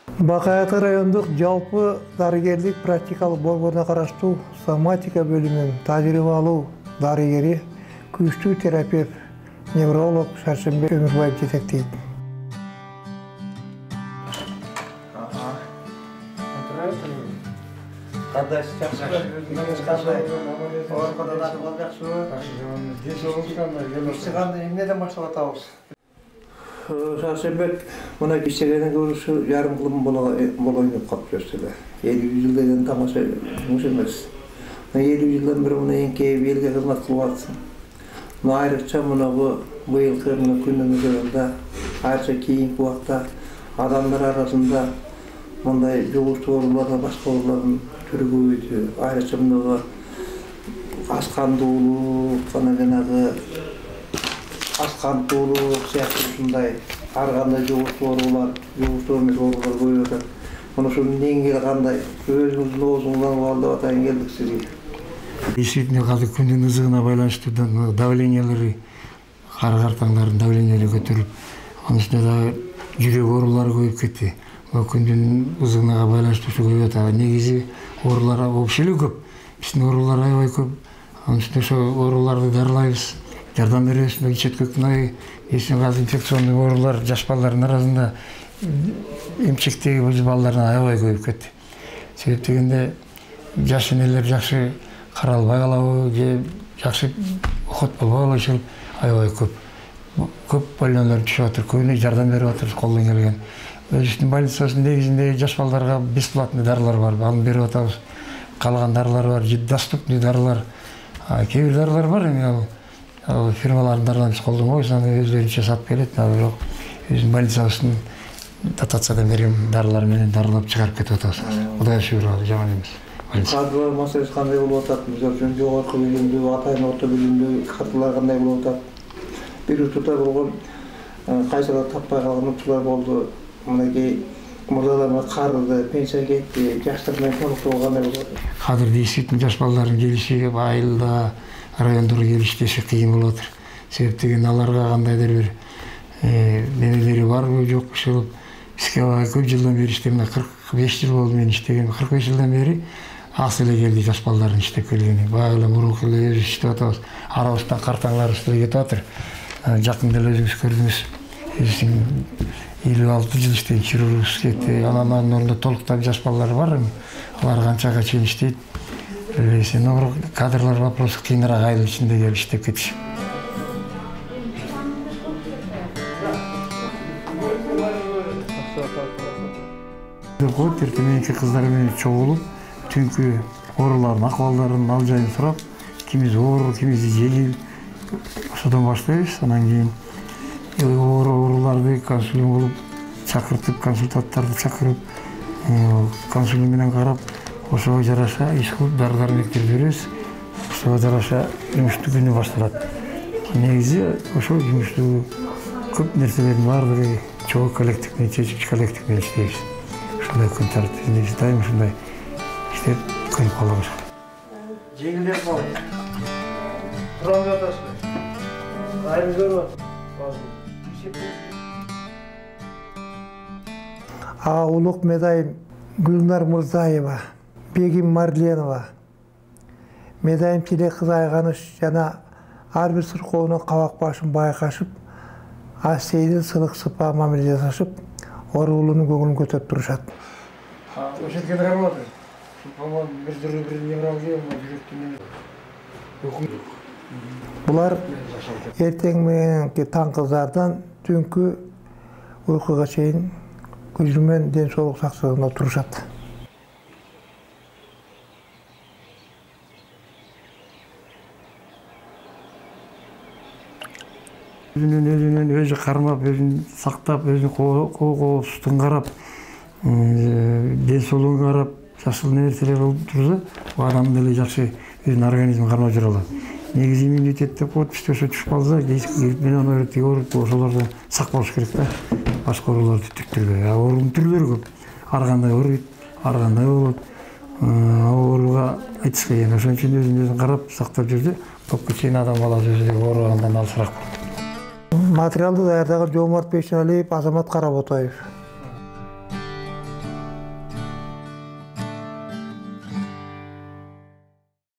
Бакай Ата райондук жалпы дарыгерлик практикалык борборуна караштуу соматика бөлүмүнүн тажрыйбалуу дарыгери, күчтүү терапевт, невролог Шаршембек Өмүрбаев жетектейт. Кандайсыз, жакшыбы? Өзүңүз кандай? Ооругадан акыбал жакшыбы? Десоңуз кандай? Ишти кандай, эмнеден баштап атабыз? Шаршембек мына иштегенден көрүшү жарым кылым болоюн деп калып жүрсүлө. 50 жылдан тамаша муш эмес. 50 жылдан бери мына эңкейип элге кызмат кылып атсың. Мына айрыкча мынабу быйылкы күндүн üzerinde, айрыкча кийинки убакта адамдар арасында мындай жугуштуу оорулардан башка оорулардын түрү көбөйдү. Айрыкча мына аш кандуулук, жанагы аш кандуулук сыяктуу ушундай ар кандай жугуштуу оорулар, жугуштуу эмес оорулар көбөйүп атат. Мына ушунун негизи кандай? Өзүңүздүн оозуңуздан абалдап атайын келдик сизге. Действительно, азыр күндүн ызыгына байланыштуу давлениялары, картаңдардын давлениялары көтөрүлүп, анын үстүнө дагы жүрөк оорулары көбөйүп кетти. Күндүн ызыгына байланыштуу көбөйүп атат. Негизи оорулар вообще эле көп. Биздин оорулар аябай көп. Анын үстүнө ошо ооруларды дарылайбыз, жардам беребиз. Ичет көкнай, азыр инфекционный оорулар жаш балдардын арасында эмчектеги балдардын аябай көбөйүп кетти. Себеп дегенде жаш энелер жакшы каралбай калабы же жакшы окот болбой калышы аябай көп. Көп больнолор түшүп атыр, көбүнө жардам берип атырбыз колдон келген. Өзүбүздүн больницабыздын негизинде жаш балдарга бесплатный дарылар бар, аны берип атабыз. Калган дарылар бар, доступный дарылар. Кээ бир дарылар бар, эми ал фирмалардын дарыларын биз колдонбойбуз, аны өздөрүнчө сатып келет, бирок биздин больницабыздын дотациядан берген дарылар менен дарылап чыгарып кетип атабыз. Кудайга шүгүр, жаман эмес. Кадрлар маселеси кандай болуп атат? Мисалы үчүн жогорку билимдүү, атайын орто билимдүү кадрлар кандай болуп атат? Бир учурда болгон кайсылар таппай калган учурлар болду. Мынакей мырзаларга карыды, пенсияга кетти, жаштар менен толуктоо кандай болуп атат? Азыр действительно жаш балдардын келиши айылда, райондорго келиштеши кыйын болуп атыр. Себеп деген аларга кандайдыр бир немелери барбы жокпу ушул бизге көп жылдан бери иштейм, 45 жыл болду мен иштегем. 45 жылдан бери аз эле келди жаш балдардын иштеп келгени. Баягы эле мурунку эле өзүбүз иштеп атабыз. Арабыздан картаңдарыбыз деле кетип атыр. Жакында эле өзүңүз көрдүңүз. 56 жыл иштеген хирургубуз кетти. Анын ордуна толуктап жаш балдар бар. Алар канчага чейин иштейт. Но кадрлар вопросы кыйыныраак айыл ичинде келип иштеп кетишип. Эртең кыздар менен чогулуп, түнкү оорулардын акыбалдарын ал жайын сурап, кимиси оор, кимиси жеңил, ошодон баштайбыз. Анан кийин ооруларды консулиум болуп чакыртып, консультанттарды чакырып, консулиум менен карап, ошого жараша иш кылып дары-дармектер беребиз. Ошого жараша жумуштуу күнү башталат. Негизи ошол жумуштуу көп нерселердин баардыгы чогуу коллектив менен, чечүүчү коллектив менен иштейбиз. Ушундай күн тартибинде дайым ушундай иштеп көрүп калабыз. Жеңилдеп калды. Тура алып атасызбы? Кайры көрүп атат. Улук медайым Гүлнар Мырзаева, Бегим Марленова, медайым Тилек кызы Айганыш жана ар бир сыркоонун кабак башын байкашып, сейдин сылык сыпа мамиле жасашып, оорулуунун көңүлүн көтөрүп турушат. Ошентке карап атыр. По-моему, бир невралгия, жүрөктүн. Булар эртең мененки таң кыздардан түнкү уйкуга чейин көзүмен ден соолук сактыгында турушат. Өзүнүн өзү кармап, өзүн сактап, өзүн коопсуздугун карап, ден соолугун карап, жакшы нерселер болуп турса, бул адам деле жакшы өзүнүн организмин кармап жүрө алат. Негизи иммунитет деп коет, бизде ошо түшүп калса, менен оорут, ошолордон сак болуш керек да. Башка ооруларды түктүрбөй. Оорунун түрлөрү көп. Ар кандай ооруйт, ар кандай болот. Ооруга айтыш кыйын. Ошон үчүн өзүн карап, сактап жүрдү. Топко чейин адам баласы өзү ооругандан алысыраак болот. Материалды даярдаган Жоомарт Бейшеналиев, Азамат Каработаев.